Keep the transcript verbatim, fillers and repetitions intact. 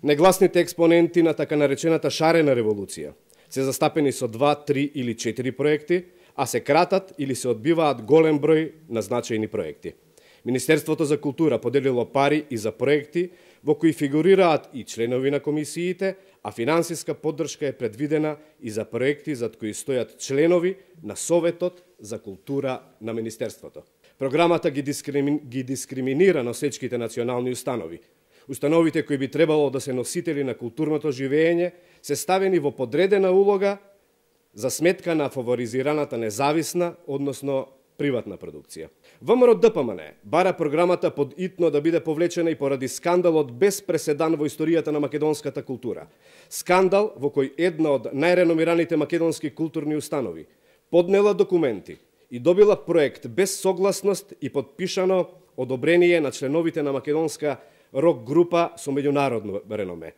Негласните експоненти на така наречената шарена револуција се застапени со два, три или четири проекти, а се кратат или се одбиваат голем број на значајни проекти. Министерството за култура поделило пари и за проекти во кои фигурираат и членови на комисиите, а финансиска поддршка е предвидена и за проекти зад кои стојат членови на Советот за култура на Министерството. Програмата ги, дискрими... ги дискриминира носечките национални установи. Установите кои би требало да се носители на културното живење се ставени во подредена улога за сметка на фаворизираната независна, односно приватна продукција. ВМРО Д П М Н бара програмата под итно да биде повлечена и поради скандалот без преседан во историјата на македонската култура. Скандал во кој една од најреномираните македонски културни установи поднела документи и добила проект без согласност и подпишано одобрение на членовите на македонска рок група со меѓународно реноме.